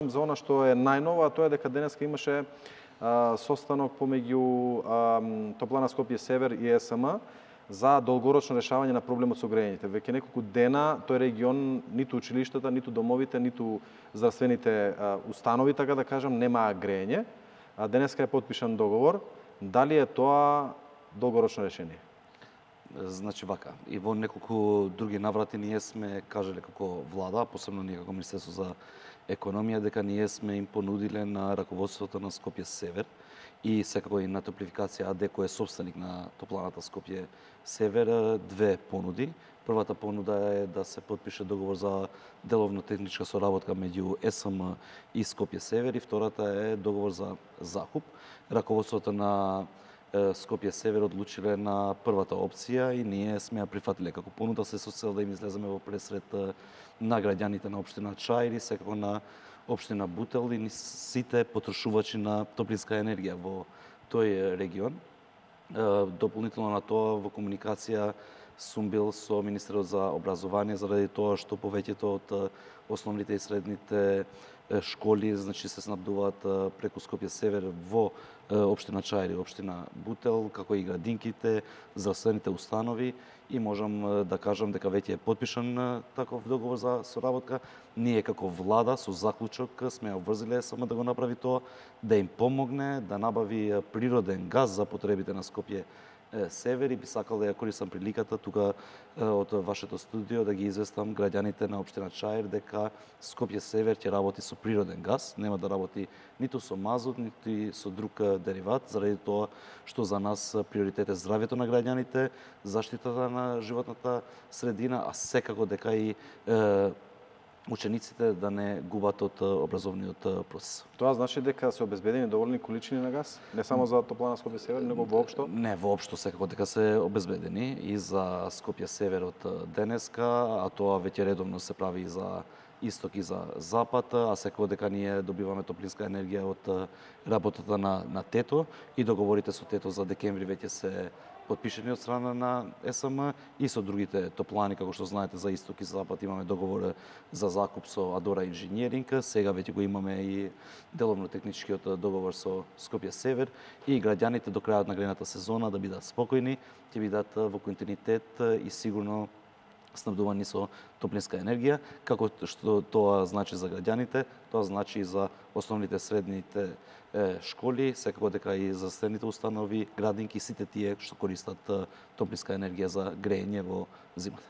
За она што е најново, тоа е дека денеска имаше состанок помеѓу Топлана Скопје Север и ЕСМ за долгорочно решавање на проблемот со грејењето. Веќе неколку дена тој регион, ниту училиштата, ниту домовите, ниту здравствените установи, така да кажам, немаа грејење. Денеска е потпишан договор. Дали е тоа долгорочно решение? Значи вака, и во неколку други наврати ние сме кажале како влада, посебно ние како Министерство за економија, дека ние сме им понудиле на раководството на Скопје Север и секако и на Топлификација АД, кој е собственик на топланата Скопје Север, две понуди. Првата понуда е да се потпише договор за деловно техничка соработка меѓу ЕСМ и Скопје Север, и втората е договор за закуп. Раководството на Скопје Север одлучиле на првата опција и ние сме ја прифатиле како понуда, се со цел да им излеземе во пресред на граѓаните на општина Чаир и секако на општина Бутел и сите потрошувачи на топлинска енергија во тој регион. Дополнително на тоа, во комуникација сум бил со Министерот за образование заради тоа што повеќето од основните и средните школи, значи, се снабдуваат преку Скопје Север во општина Чаир и општина Бутел, како и градинките, здравствените установи, и можам да кажам дека веќе е потпишан таков договор за соработка. Ние како влада со заклучок сме ја обврзиле само да го направи тоа, да им помогне да набави природен газ за потребите на Скопје Север, и би сакал да ја користам приликата тука од вашето студио да ги известам граѓаните на општина Чаир дека Скопје Север ќе работи со природен газ, нема да работи ниту со мазут, ниту и со друг дериват, заради тоа што за нас приоритет е здравјето на граѓаните, заштитата на животната средина, а секако дека и учениците да не губат од образовниот процес. Тоа значи дека се обезбедени доволни количини на газ, не само за топлана Скопје Север, него воопшто? Не, воопшто секако дека се обезбедени и за Скопје Север од денеска, а тоа веќе редовно се прави и за исток и за запад, а секако дека ние добиваме топлинска енергија од работата на ТЕТО, и договорите со ТЕТО за декември веќе се потпишени од страна на ЕСМ и со другите топлани, како што знаете, за исток и запад имаме договор за закуп со Адора Инжинеринг, сега веќе го имаме и деловно техничкиот договор со Скопје Север, и граѓаните до крајот на грејната сезона да бидат спокојни, ќе бидат во континуитет и сигурно снабдувани со топлинска енергија. Како што тоа значи за граѓаните, тоа значи и за основните средните школи, секако дека и за здравствените установи, градинки, сите тие што користат топлинска енергија за грејење во зимата.